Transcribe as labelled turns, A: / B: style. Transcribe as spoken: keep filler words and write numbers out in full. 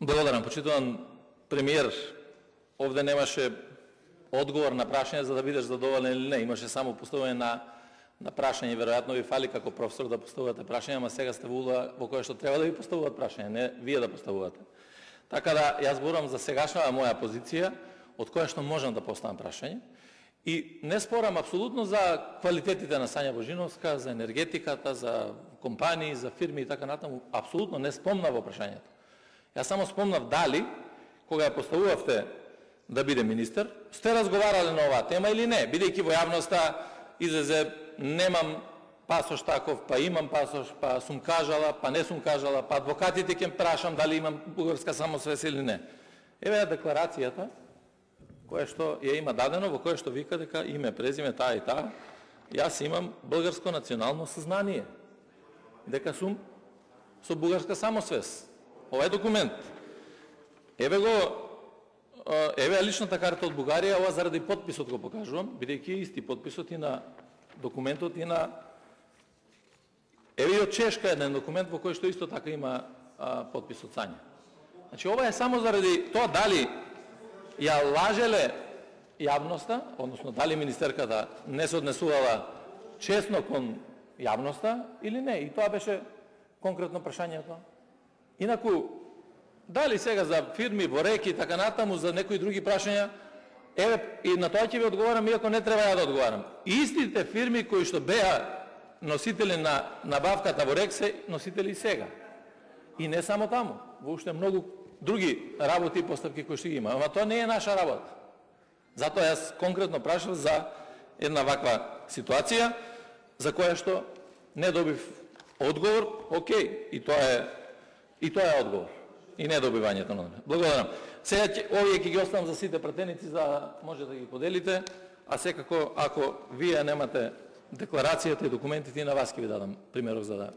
A: Благодарам, почитуван премиер. Овде немаше одговор на прашање за да бидеш задоволен или не. Имаше само поставување на на прашање. Веројатно ви фали како професор да поставувате прашање, ама сега сте во улога во која што треба да ви поставуваат прашање, не вие да поставувате. Така да јас зборам за сегашната моја позиција, од која што можам да поставам прашање. И не спорам апсолутно за квалитетите на Сања Божиновска, за енергетиката, за компании, за фирми и така натаму. Апсолутно не спомнав во прашањето. Јас само спомнав дали, кога ја поставувавте да биде министер, сте разговарале на оваа тема или не, бидејќи во јавноста излезе немам пасош таков, па имам пасош, па сум кажала, па не сум кажала, па адвокатите ќе прашам дали имам бугарска самосвест или не. Еве ја декларацијата која што ја има дадено, во која што вика дека име, презиме, таа и таа, јас имам бугарско национално сознание, дека сум со бугарска самосвест. Ова е документ. Еве го, еве личната карта од Бугарија, ова заради подписот го покажувам, бидејќи исти подписот и на документот и на... Еве и од Чешка еден документ во кој што исто така има а, подпис од Сања. Значи, ова е само заради тоа дали ја лажеле јавноста, односно дали министерката не се однесувала честно кон јавноста или не. И тоа беше конкретно прашањето. Инаку, дали сега за фирми во реки и така натаму, за некои други прашања, еве, и на тоа ќе ви одговарам, иако не треба ја да одговарам. И истите фирми кои што беа носители на набавката во рек се носители и сега. И не само таму, воопште многу други работи и постапки кои што ги има. Ама тоа не е наша работа. Затоа јас конкретно прашав за една ваква ситуација, за која што не добив одговор, окей, и тоа е и тоа е одговор. И не добивањето на одговор. Благодарам. Сега овие ќе ги оставам за сите пратеници за да може да ги поделите, а секако ако вие немате декларацијата и документите, и на вас ќе ви дадам примерок за да